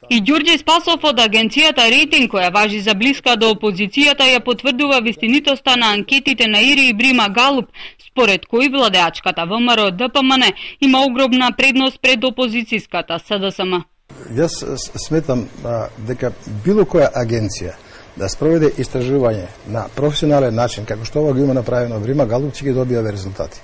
И Ѓорѓе Спасов од агенцијата Рейтинг, која важи за блиска до опозицијата, ја потврдува вистинитоста на анкетите на Ири и Брима Галуп, според кои владеачката ВМРО ДПМН има огромна предност пред опозицијската СДСМ. Јас сметам дека било која агенција да спроведе истражување на професионален начин, како што ова го има направено Брима Галуп, ќе ги добијаве резултати.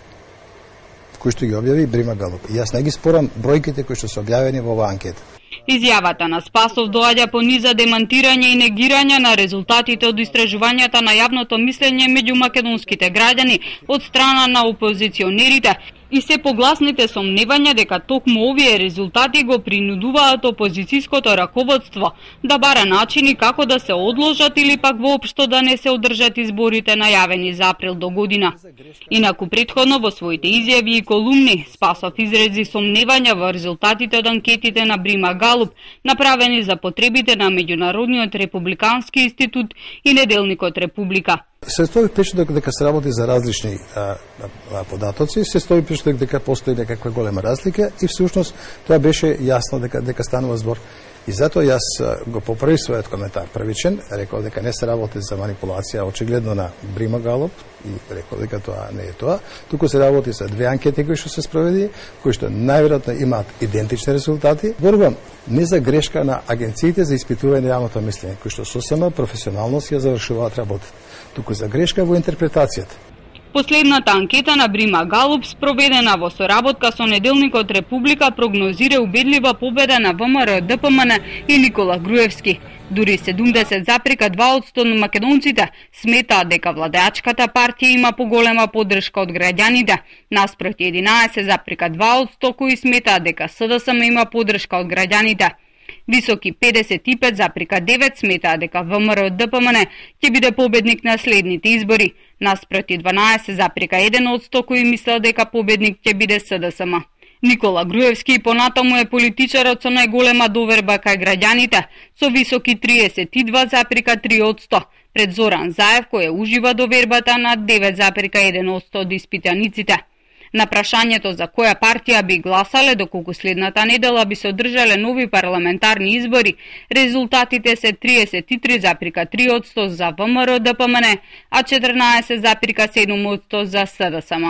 Кои што ги објави Брима Галуп. И јас не ги спорам бројките кои што се објавени во оваа анкета. Изјавата на Спасов доаѓа по низа демантирање и негирање на резултатите од истражувањата на јавното мислење меѓу македонските граѓани од страна на опозиционерите и се погласните сомневања дека токму овие резултати го принудуваат опозицијското раководство да бара начини како да се одложат или пак воопшто да не се одржат изборите најавени за април до година. Инаку претходно во своите изјави и колумни Спасов изрази сомневања во резултатите од анкетите на Брима Галуп, направени за потребите на Меѓународниот републикански институт и неделникот Република. Се стои впечаток дека се работи за различни податоци, се стои впечаток дека постои некаква голема разлика и всушност тоа беше јасно дека станува збор. И затоа јас го поправи својот коментар првичен, рекол дека не се работи за манипулација очигледно на Брима Галуп и рекол дека тоа не е тоа, туку се работи за две анкети кои што се спроведи, кои што најверојатно имаат идентични резултати. Борбам не за грешка на агенциите за испитување на јавното мислење, кои што сосема професионално си ја завршуваат работа, туку за грешка во интерпретацијата. Последната анкета на Брима Галуп, спроведена во соработка со неделникот Република, прогнозира убедлива победа на ВМРО ДПМН и Никола Груевски. Дури 70,2% на македонците сметаат дека владеачката партија има поголема поддршка од граѓаните, наспроти 11,2% кои сметаат дека СДСМ има поддршка од граѓаните. Високи 55,9% сметаат дека ВМРО ДПМН ќе биде победник на следните избори, наспроти 12,1% кои мислат дека победник ќе биде СДСМ. Никола Груевски понатаму е политичарот со најголема доверба кај граѓаните, со високи 32,3% пред Зоран Заев, кој ужива довербата на 9,1% од испитаниците. На прашањето за која партија би гласале доколку следната недела би се одржале нови парламентарни избори, резултатите се 33,3% за ВМРО ДПМН, а 14,7% за СДСМ.